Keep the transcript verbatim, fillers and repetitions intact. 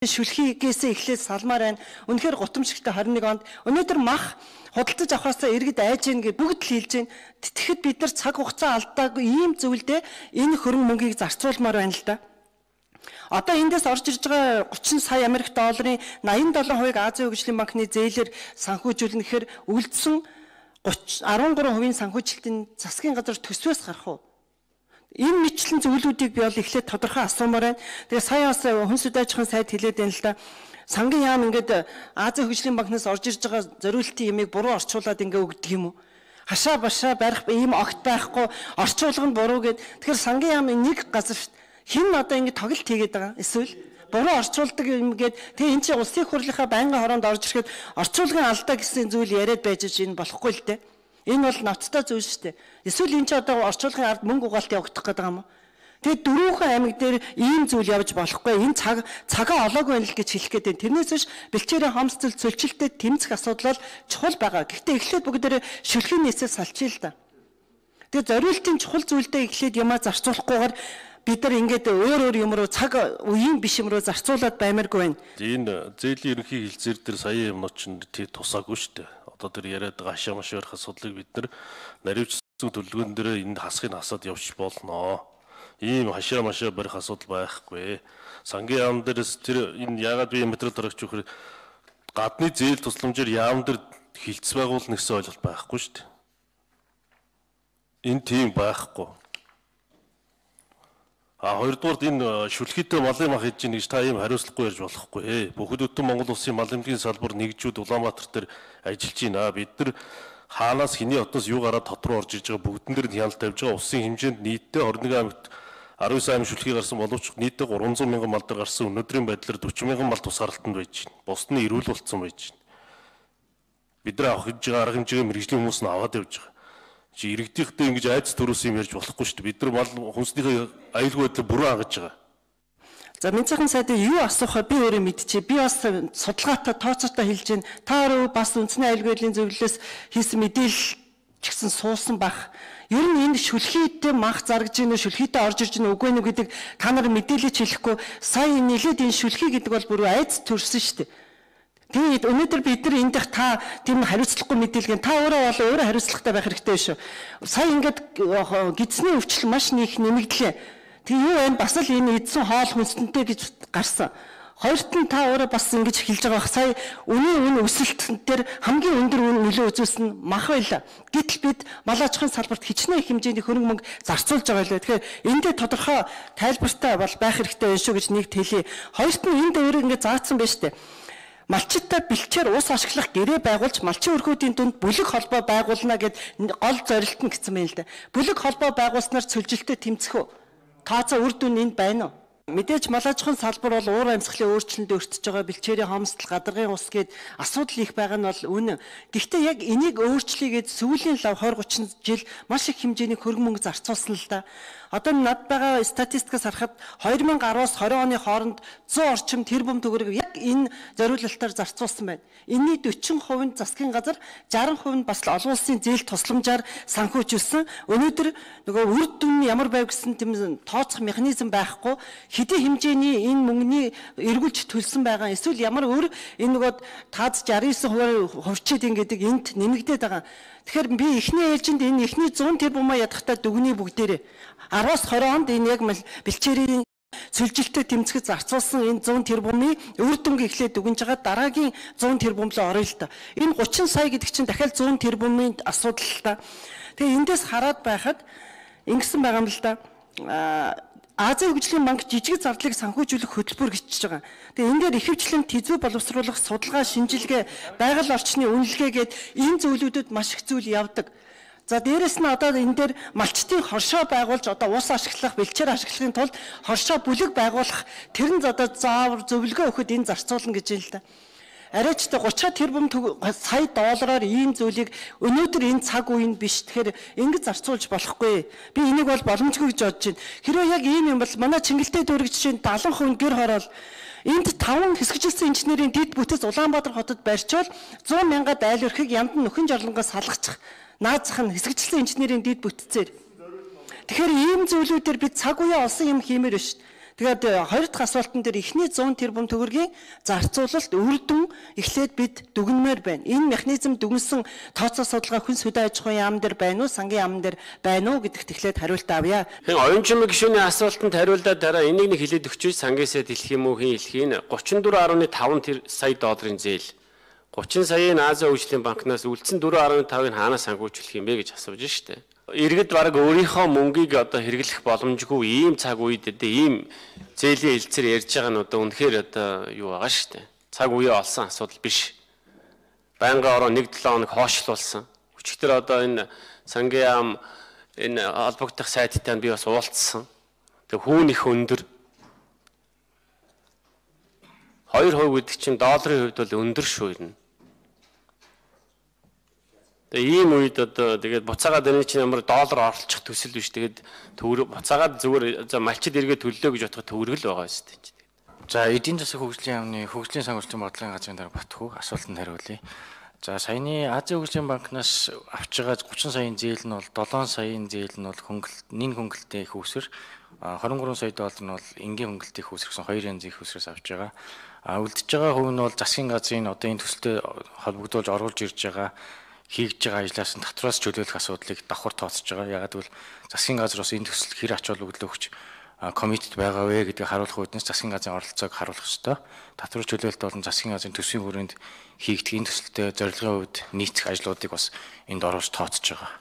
Шүлхийгээс эхлээд салмаар байна. Үнэхээр гутамшигтай хорин нэг онд өнөөдөр мах худалдаж авахаасаа иргэд айж гин гэж бүгд л хэлж байна. Тэгэхэд бид нар цаг хугацаа алдаагүй ийм зүйлдээ энэ хөрөнгө мөнгийг зарцуулмаар байна л да. Одоо эндээс орж ирж байгаа гучин сая Америк долларын найман долоо хувийг Азийн хөгжлийн банкны зээлээр санхүүжүүлнэ гэхээр үлдсэн арван гурван хувийн санхүүжилтийн засгийн газар төсвөөс гарах уу? Энэ мэтлэн зүйлүүдийг би бол эхлээд тодорхой асуумаар байна. Тэгээ сая бас хүнс удаажхан сайд хэлээд байна л да. Сангийн яам ингээд Азийн хөгжлийн банкнаас орж ирж байгаа зориултын ямыг буруу орчуулад ингээ өгдөг юм уу? Хашаа башаа барих ийм огт байхгүй орчуулга нь буруу гэд. Тэгэхээр сангийн яам нэг газар хэн одоо ингээ тоглолт хийгээд байгаа. Эсвэл буруу орчуулдаг юм гээд тэгээ эн чинь улсын хурлынхаа байнгын хороонд орж ирэхэд орчуулгын алдаа гэсэн зүйл яриад байж энэ болохгүй л дээ. Энэ бол ноцтой зүйл шүү дээ. Эсвэл энэ ч одоо орчуулгын ард мөнгө угаалт явагдах гэдэг юм уу? Тэгээд дөрвөн аймаг дээр ийм зүйл явж болохгүй. Энэ цаг цагаа олоогүй байл гэж хэлэх гээд байна. Тэрнээс биш бэлчээрийн хомсцол цөлчлөлтөд тэмцэх асуудал бол чухал байгаа. Гэхдээ эхлээд бүгдээрээ шүлхийн нийцээс салчия л да. Тэгээд зориултын чухал зүйлдээ эхлээд юмаа зарцуулахгүйгээр бид нар ингээд өөр өөр юм руу цаг үеийн биш юм руу зарцуулаад баймааргүй байна. Энэ зээлийн ерөнхий хилцээр дээр сая юмнууд чинь тусаагүй шүү дээ. Одоо тэр яриад байгаа ашаа маш их асуудлыг бид нар наривчсан төлөвлөгөөн дээр энэ хасхыг хасаад явж болно. Ийм хашаа машаа барих асуудал байхгүй. Сангийн яам дээрс тэр энэ яагаад би материал дарагч өгөхөр гадны зээл тусламжаар яам дээр хилцс байгуулна гэсэн ойлголт байхгүй шүү дээ. Энэ тийм байхгүй. А хоёрдугаард энэ шүлхийтэй малын мах хийж гин гэж та ийм хариуцлагагүй ярьж болохгүй. Бүхэл бүтэн Монгол улсын мал эмнэлгийн салбар нэгжүүд Улаанбаатар дээр ажиллаж байна. Бид нар хаанаас хэний хотоос юу гараад хот руу орж иж байгаа бүгдэн дээр нь хяналт тавьж байгаа. Улсын хэмжээнд нийтдээ хорин нэг аймагт арван девять аймаг шүлхий гарсан боловч нийтдээ гурван зуун мянган мал дээр гарсан. Өнөөдрийн байдлаар дөрвөн мянган мал тусгаарлалтанд байж байна. Бусд нь эрүүл болцсон байж байна. Бид нар авах гэж байгаа арга хэмжээгээ мэргэжлийн хүмүүс нь аваад явж байгаа. Чи иргэдийнхтэй ингэж айц төрөөс юм ярьж болохгүй шүү дээ. Бид нар мал хүнснийхээ аюулгүй байдлыг бүрэн хангаж байгаа. За Минцхан сайдын юу асуухаа би өөрөө мэдчихэе. Би бас судалгаатай тооцоотой хэлж байна. Та өөрөө бас үндэсний аюулгүй байдлын зөвлөлөөс хийсэн мэдээлэл ч гэсэн суусан бах. Ер нь энэ шүлхийтэй мах заргаж ийн шүлхийтэй орж ирж ийн үгүй нүг гэдэг та нар мэдээлэлч хэлэхгүй. Сая нэлээд энэ шүлхий гэдэг бол бүр айц төрсөн шүү дээ. Тэгээд өнөөдөр бид нар эндх та тийм хариуцлагагүй мэдээлгэн та өөрөө бол өөрөө хариуцлагатай байх хэрэгтэй шүү. Сая ингээд гидсний өвчлөл маш их нэмэгдлээ. Тэг юу вэ? Бас л энэ эдсэн хоол хүнсэнтэй гэж гарсан. Хоёрт нь та өөрөө бас ингэж хэлж байгаа бах. Сая үнийн үн өсөлт дээр хамгийн өндөр үн нөлөө үзүүлсэн мах байла. Гэтэл бид мал аж ахуйн салбарт хичнээн их хэмжээний хөрөнгө мөнгө зарцуулж байгаа лээ. Тэгэхээр эндээ тодорхой тайлбартай бол байх хэрэгтэй байна шүү гэж нэгт хэлье. Хоёрт нь энд өөрөө ингэ заасан байна шүү дээ. Малчиттай бэлчээр ус ашиглах гэрээ байгуулж малчин өрхүүдийн дунд бүлэг холбоо байгуулна гэд гол зорилт нь гэсэн юм л да. Бүлэг холбоо байгуулснаар цөлжилтөд тэмцэх үү? Тооцоо үр дүн энд байна уу? Мэдээж мал аж ахуйн салбар бол уур амьсгалын өөрчлөлтөнд өртөж байгаа бэлчээрийн хомсдол, гадаргын ус гээд асуудал их байгаа нь бол үнэн. Гэхдээ яг энийг өөрчлөгээд сүүлийн лав двадцать тридцать жил маш их хэмжээний хөрөнгө мөнгө зарцуулсан л да. Одоо над байгаа статистикаас харахад две тысячи десять оны оны хооронд сто орчим тэрбум төгрөг яг энэ зориулалтаар зарцуулсан байна. Энэний forty percent нь засгийн газар, sixty percent нь бас олон улсын зээл тусламжаар санхүүжүүлсэн. Өнөөдөр нөгөө үр дүн ямар байв гэсэн тийм тооцох механизм байхгүй. Хэдийн хэмжээний энэ мөнгөний эргүүлж төлсөн байгаа. Эсвэл ямар өөр энэ нөгөө таз sixty-nine percent хувьчид ингэдэг энд нэмэгдээд байгаа. Тэгэхээр би эхний ээлжинд энэ эхний one hundred тэрбумаа ядахтаа дүгний бүгдээрээ aroos twenty онд энэ яг бэлчээрийн цөлжилтөд тэмцэхэд зарцуулсан энэ one hundred тэрбумын үр дүнг эхлээд дүгнж байгаа дараагийн one hundred тэрбум л орё л та. Энэ thirty сая гэдэг чинь дахиад one hundred тэрбумын асуудал л та. Тэгээ эндээс хараад байхад ингэсэн байгаа юм л да. Азийн хөгжлийн банк жижиг зардлыг санхүүжүүлэх хөтөлбөр гიშж байгаа. Тэгээ энэ дээр ихэвчлэн тэзвүү боловсруулах, судалгаа, шинжилгээ, байгаль орчны үнэлгээ гээд энэ зөвлөдүүд маш их зүйл явдаг. За дээрэс нь одоо энэ дээр малчтын хоршоо байгуулж одоо ус ашиглах, бэлчээр ашиглахын тулд хоршоо бүлэг байгуулах тэр нь одоо заавар зөвлөгөө өгөхөд энэ зарцуулна гэж юм л да. Арайч та thirty тэрбум сая доллараар ийм зүйлийг өнөөдөр энэ цаг үеийн биш. Тэгэхээр ингэж зарцуулж болохгүй. Би энийг бол боломжгүй гэж бодож байна. Хэрвээ яг ийм юм бол манай Чингэлтэй дүүрэг жишээ нь seventy percent гэр хороол энд five хэсэгжилсэн инженерийн дэд бүтэц Улаанбаатар хотод барьчвал one hundred мянгад айл өрхийг ямд нь нөхөн жорлонгоос салгачих. Наазах нь хэсэгжилсэн инженерийн дэд бүтцээр. Тэгэхээр ийм зүйлүүдээр бид цаг үеэ олсон юм хиймээр биш. Тэгээд хоёр дахь асуултан дээр эхний зуун тэрбум төгрөгийн зарцуулалт үр дүн эхлээд бид дүгнмээр байна. Энэ механизм дүгнсэн тооцоо судалгаа хүн сүдэ аж ахуйн яам дээр байна уу, сангийн яам дээр байна уу гэдэгт эхлээд хариулт авъя. Хэн оюун чимэг гишүүний асуултанд хариулаад дараа энийг нэг хэлээд өгч сангиасаа дэлхих юм уу хэн хэлэх юм гучин дөрвөн гаруй таван сая долларын зээл гучин саяын Азийн хөгжлийн банкнаас үлдсэн дөрвөн гаруй тавыг хаанаас сангуулж юм бэ гэж асууж штэ. Иргэд бараг өөрийнхөө мөнгийг одоо хэрэглэх боломжгүй ийм цаг үед одоо ийм зээлийн хэлцээр ярьж байгаа нь одоо үнэхээр одоо юу байгаа шүү дээ. Цаг үе олсон асуудал биш. Байнгын ороо нэг долоо хоног хоошлуулсан. Өчигдөр одоо энэ сангийн яам энэ албагдах сайттай би бас уулзсан. Тэг хүүн их өндөр. хоёр хувь гэдэг чинь долларын хувьд бол өндөр шүү юм. Тэгээ ийм үед одоо тэгээд буцаагаад энэ чинь ямар доллар оролцох төсөл биш. Тэгээд төвөр буцаагаад зүгээр за малчид эргээ төллөө гэж бодоход төвөргөл байгаа шүү дээ. За эдийн засаг хөгжлийн яамны хөгжлийн санхүүжилтийн бодлогын газрын дараа Батхүү асуултанд хариулъя. За саяны Азийн хөгжлийн банкнаас авч байгаа гучин саяын зээл нь бол долоон саяын зээл нь бол хөнгөлт нэн хөнгөлтийн их үүсвэр двадцать три сая доллар нь бол энгийн хөнгөлтийн их үүсвэр гэсэн хоёр янзын их үүсвэрээс авч байгаа. А үлдэж байгаа хувь нь бол засгийн газрын одоо энэ төсөлтөд холбогдуулж оруулж ирж байгаа хийж байгаа ажлаас нь татвараас чөлөөлөх асуудлыг давхар тооцож байгаа. Ягаад гэвэл засгийн газар бас энэ төсөлд хэр ач холбогдол өгч комитет байгаа вэ гэдгийг харуулах үүднээс засгийн газрын оролцоог харуулах ёстой. Татвар чөлөөлөлт болон засгийн газрын төсвийн хүрээнд хийгдэх энэ төсөлтөд зорилгын хувьд нийцэх ажлуудыг бас энд оруулж тооцож байгаа.